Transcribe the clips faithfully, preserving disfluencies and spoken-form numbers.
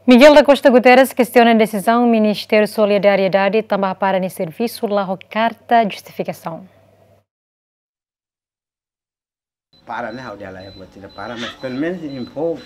Miguel da Costa Guterres kestiona desizaun Ministériu Solidariedade tanba hapara nia servisu la ho karta justifikasaun. Para ne'e ha'u dehan laiha buat sira para, mas pelumenus info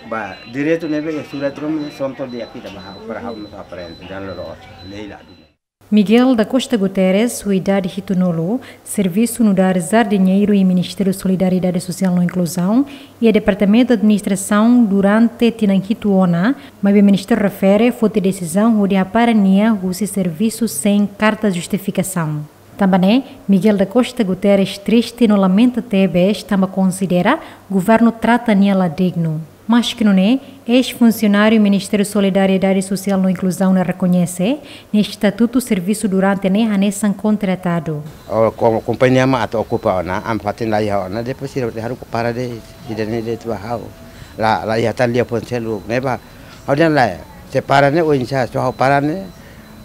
ba direitu ne'ebé iha surat ruma ne'e, sonto dia kita ba ha'u para ha'u mós aprende dan loro lei la duna. Miguel da Costa Guterres, ho idade hitunulu, servisu nu'udar jardineiru iha Ministériu Solidariedade Sosiál no Inkluzaun iha Departamentu Administrasaun durante tinan hitu ona, maibé ministériu refere foti desizaun hodi hapara nia husi servisu sein karta justifikasaun. Tanba ne'e, Miguel da Costa Guterres triste no lamenta tebes tanba konsidera governu trata nia la dignu. Maske nune'e, eis-funsionáriu Ministériu Solidariedade Sosiál no Inkluzaun ne'e rekoñese nia estatutu servisu durante ne'e hanesan kontratadu. O, ko-, kompañia mak atu okupa ona, ami fatin laiha ona, depois sira haruka para de'it, ida-ne'e de'it ba ha'u. La, laiha tan lia fó selu, ne'ebá. Ha'u dehan lae, se para ne'e oinsá, se ha'u para ne'e,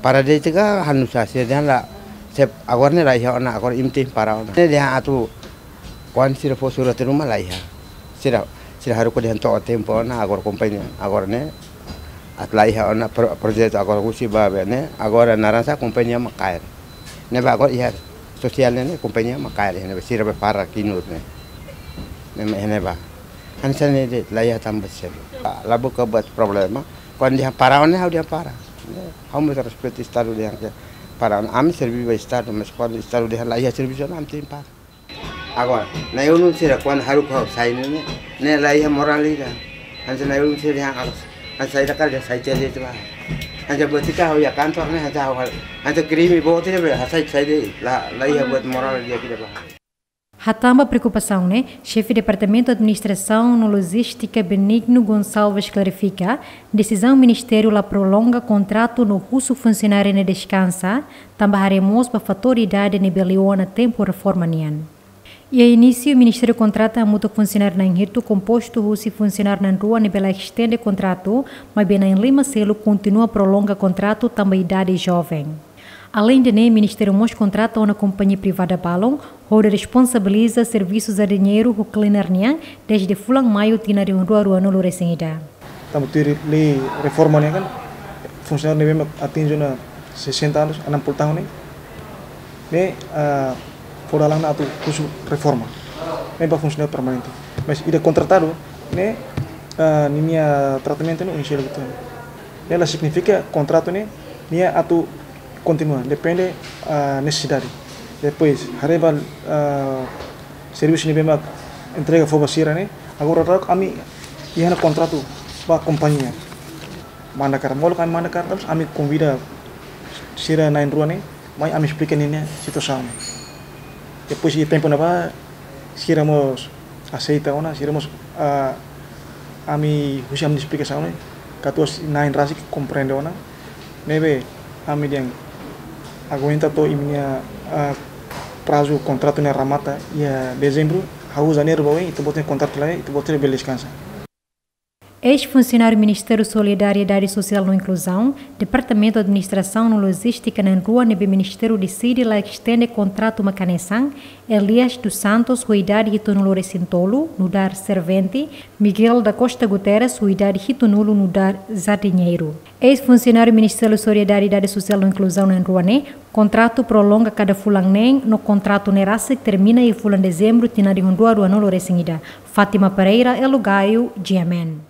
para de'it ka halo nusá, sira dehan lae, se agora ne'e laiha ona, agora imi tenke para ona. Ne'e dehan atu, kuandu sira fó surat ruma laiha. Sira, sira haruka dehan to'o tempu ona, agora kompañia, agora ne'e, atu laiha ona pro-, projetu agora husi ba be ne'e, agora naran sá kompañia mak kaer. Ne'ebá agora iha sosiál ne'e, ne'e kompañia mak kaer, ne'ebá sira be para kinur ne'e. Ne'e, ne'ebá. Hanesan ne'e de'it, laiha tanba selu. La buka buat problema. Kuandu dehan para ona, ha'u dehan para. Ne'e, ha'u mós respeitu Estadu dehan ke para ona. Ami serve ba Estadu, mas kuandu Estadu dehan laiha servisu ona, ami tenke para. Agora, na'i-ulun sira kuandu haruka ha'u sai ne'e, ne'e laiha morál ida. Hanesan na'i-ulun sira dehan ha'u, hanesan ida karik dehan sai tiha de'it ba. Hanesan buat ida ha'u iha kantor ne'e, hanesan ha'u, hanesan krime boot ida be, hasai sai de'it, la, laiha buat morál ida kida ba. Hatán ba preokupasaun ne'e, Xefe Departamentu Administrasaun no Lojístika Benigno Gonçalves klarifika, desizaun ministériu la prolonga kontratu no husu funsionáriu ne'e deskansa, tanba haree mós ba fatór idade ne'ebé liu ona tempu reforma nian. Iha inísiu, ministériu kontrata hamutuk funsionáriu na'in hitu kompostu husi funsionáriu na'in rua ne'ebé la estende kontratu, maibé na'in lima seluk kontinua prolonga kontratu tanba idade joven. Aleinde ne'e, ministériu mós kontrata ona kompañia privada balun, hodi responsabiliza servisu jardineiru ho cleaner nian, dezde fulan Maiu tinan rihun rua ruanulu resin ida. Tanba tuir lei reforma nian kan, funsionáriu ne'ebé mak atinje ona sessenta anos, enam puluh tahun ne'e, ne'e, ah, fó dalan ona atu husu reforma. Ne'e ba funsionáriu permanente. Mas ida kontratadu, ne'e, ah, ninia tratamentu ne'e oinsá liu uitoan. Ne'e la signifika kontratu ne'e, nia atu kontinua, depende, ah, nesesidade. Depois, haree ba, ah, servisu ne'ebé mak entrega fó ba sira ne'e, agora daudaun ami iha ona kontratu ba kompañia. Manda karta, molok ami manda karta, ami konvida sira na'in rua ne'e, mai ami esplika ninia situasaun. Depois iha tempu ne'ebá, sira mós aseita ona, sira mós, ah, ami husi ami esplikasaun ne'e, katuas na'in rasik komprende ona, ne'ebé ami dehan aguenta to'o imi-nia, ah, prazu kontratu ne'e remata iha Dezembru, hahú Janeiru ba oin, ita-boot nia kontratu laiha, ita-boot nia bele deskansa. Eis-funsionáriu Ministériu Solidariedade Sosiál no Inkluzaun, Departamentu Administrasaun no Lojístika na'in rua ne'ebé ministériu deside la estende kontratu mak hanesan, Elias dos Santos, ho idade hitunulu resin tolu, nu'udar servente, Miguel da Costa Guterres, ho idade hitunulu, nu'udar jardineiru. Eis-funsionáriu Ministériu Solidariedade Sosiál no Inkluzaun na'in rua ne'e, kontratu prolonga kada fulan neen, no kontratu ne'e rasik termina iha fulan Dezembru tinan rihun rua ruanulu resin ida. Fátima Pereira, Elo Gaio, G M N.